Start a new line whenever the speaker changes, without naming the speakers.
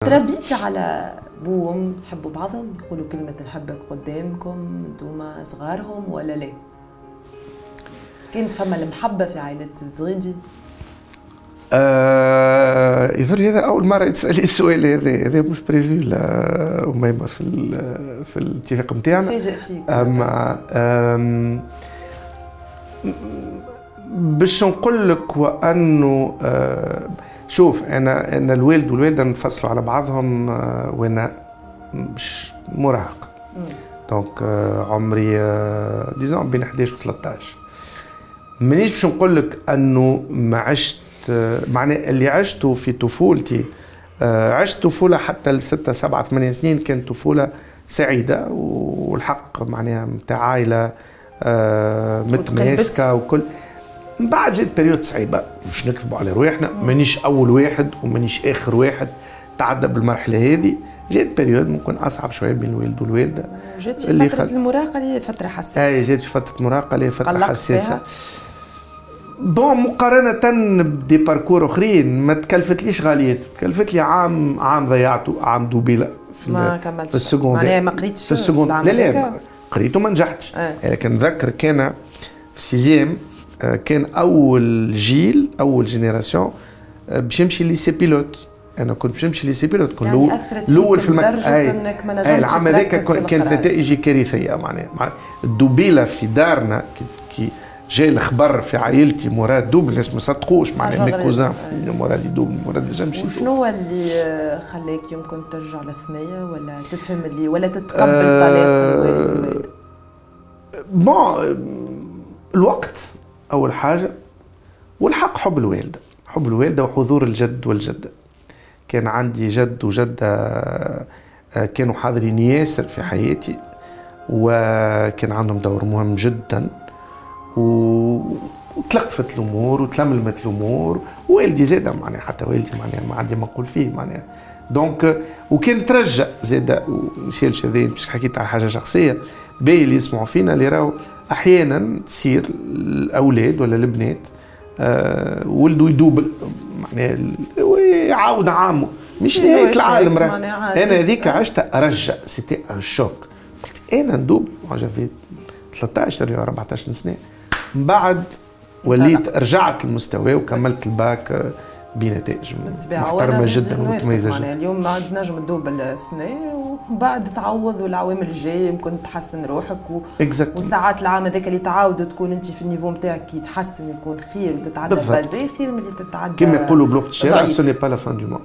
تربيت على بو وام يحبوا بعضهم، يقولوا كلمة نحبك قدامكم انتوما صغارهم ولا لا؟ كانت فما المحبة في عائلة الزغيدي؟
يظهر هذا أول مرة تسألي السؤال هذا، هذا مش prévu لا أميمة في الاتفاق نتاعنا.
فاجئ فيك.
أما باش نقول لك وأنه شوف انا الوالد والوالدة انفصلوا على بعضهم وانا مش مراهق، donc عمري disons بين 11 و 13. مانيش باش نقول لك انه ما عشت، معناه اللي عشته في طفولتي، عشت طفولة حتى ل6 7 8 سنين كانت طفولة سعيدة والحق معناها نتاع عائلة متماسكة وكل. من بعد جات période صعيبة، مش نكذبوا على رواحنا، مانيش اول واحد ومانيش اخر واحد تعدى بالمرحلة هذه. جات période ممكن اصعب شوية بين الوالد والوالدة.
جات في فترة المراهقة اللي هي فترة حساسة.
اي جات في فترة المراهقة اللي هي فترة حساسة. bon مقارنة ب des parcours اخرين ما تكلفتليش غالية، تكلفت لي عام ضيعته، عام دوبيله
في ما كملتش
في ال secondaire،
معناها ما قريتش
في ال secondaire. لا لا قريت وما نجحتش. لكن نذكر كان في sixième كان اول جيل، اول génération باش يمشي lycée pilote. انا كنت باش نمشي lycée pilote، كنت
يعني
الاول في
المكتب. انك ما نجمتش.
العام هذاك كانت نتائجي كارثية، معناها الدوبيله في دارنا كي جاي الخبر في عائلتي مراد double، الناس ما صدقوش، معناها mes cousins مراد يدوبل، مراد ما نجمش.
وشنو هو اللي خلاك يمكن ترجع للثنيه ولا تفهم اللي ولا تتقبل طلاق الوالد والوالدة؟
bon الوقت أول حاجة، والحق حب الوالدة، حب الوالدة وحضور الجد والجدة. كان عندي جد وجدة كانوا حاضرين ياسر في حياتي وكان عندهم دور مهم جدا، وتلقفت الأمور وتلملمت الأمور. والدي زادة معناها، حتى والدي معناها ما عندي ما نقول فيه معناها. donc وكان ترجع زادة ومسالش هذا باش حكيت على حاجة شخصية، باهي اللي يسمعوا فينا اللي راهو احيانا تصير الاولاد ولا البنات ولدوا يدوبل معناها ويعاود عامة، مش نهاية العالم. راه انا هذيك عشت رجع، c'était un choc. قلت انا ندوبل، j'avais 13 ولا 14 سنة. من بعد وليت رجعت للمستوى وكملت الباك بنتائج محترمه جدا ومتميزه جدا.
اليوم ما تنجم تدوبل السنة ومن بعد تعوض، والعوامل الجاية يمكن تحسن روحك وساعات العام هذاك اللي تعاود تكون انت في ال niveau نتاعك يتحسن يكون خير وتتعدى basé خير من اللي تتعدى.
كما يقولوا بلغه الشارع ce n'est pas la fin du monde.